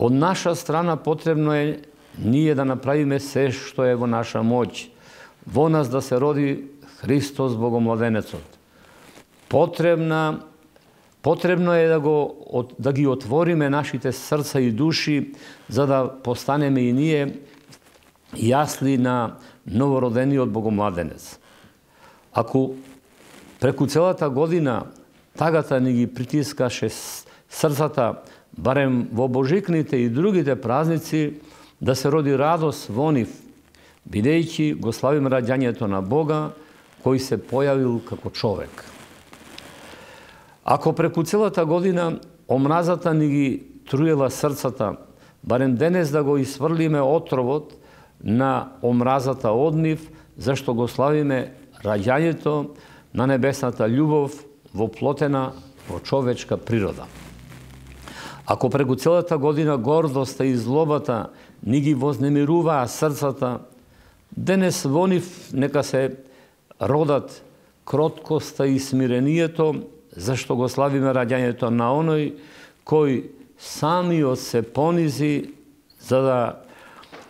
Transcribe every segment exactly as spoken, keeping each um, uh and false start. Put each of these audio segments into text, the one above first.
Од наша страна потребно е ние да направиме се што е во наша моќ, во нас да се роди Христос Богомладенецот. Потребна, потребно е да, го, да ги отвориме нашите срца и души, за да постанеме и ние јасли на новородениот Богомладенец. Ако преку целата година тагата ни ги притискаше срцата, барем во божикните и другите празници, да се роди радост во нив, бидејќи го славим раѓањето на Бога, кој се појавил како човек. Ако преку целата година омразата ни ги труела срцата, барем денес да го исфрлиме отровот на омразата од нив, зашто го славиме раѓањето на небесната љубов воплотена во човечка природа. Ако преку целата година гордоста и злобата ни ги вознемируваа срцата, денес во нив нека се родат кроткоста и смирението, зашто го славиме раѓањето на оној кој самиот се понизи за да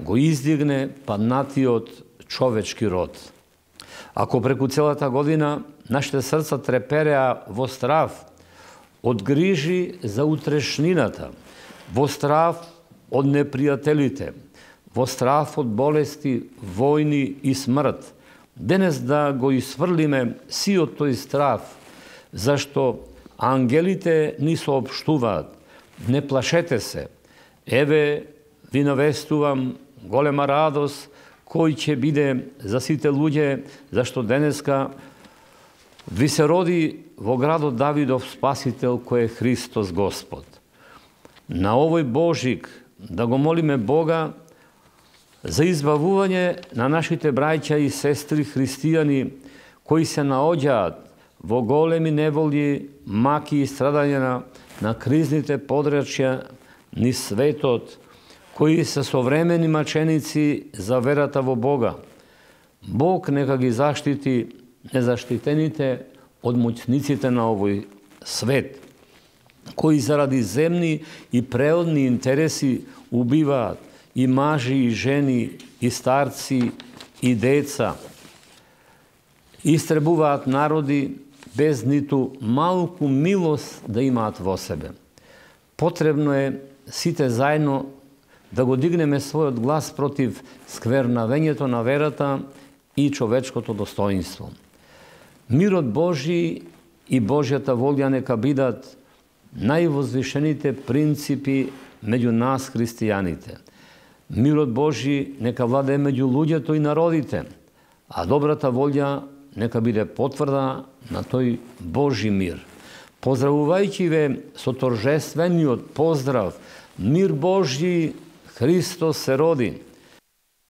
го издигне паднатиот човечки род. Ако преку целата година нашите срца трепереа во страв од грижи за утрешнината, во страв од непријателите, во страв од болести, војни и смрт, денес да го исфрлиме сиот тој страв, зашто ангелите ни соопштуваат: не плашете се, еве ви навестувам голема радост, кој ќе биде за сите луѓе, зашто денеска ви се роди во градот Давидов Спасител, кој е Христос Господ. На овој Божик да го молиме Бога за избавување на нашите браќа и сестри христијани кои се наоѓаат во големи неволји, маки и страдања на, на кризните подрачја низ светот, кои се современи маченици за верата во Бога. Бог нека ги заштити незаштитените од моќниците на овој свет, кои заради земни и преодни интереси убиваат и мажи, и жени, и старци, и деца. Истребуваат народи без ниту малку милост да имаат во себе. Потребно е сите заедно да го дигнеме својот глас против сквернавењето на верата и човечкото достоинство. Мирот Божи и Божјата волја нека бидат највозвишените принципи меѓу нас христијаните. Мирот Божи нека владее меѓу луѓето и народите, а добрата волја нека биде потврда на тој Божи мир. Поздравувајќи ве со торжествениот поздрав: мир Божи, Христос се роди!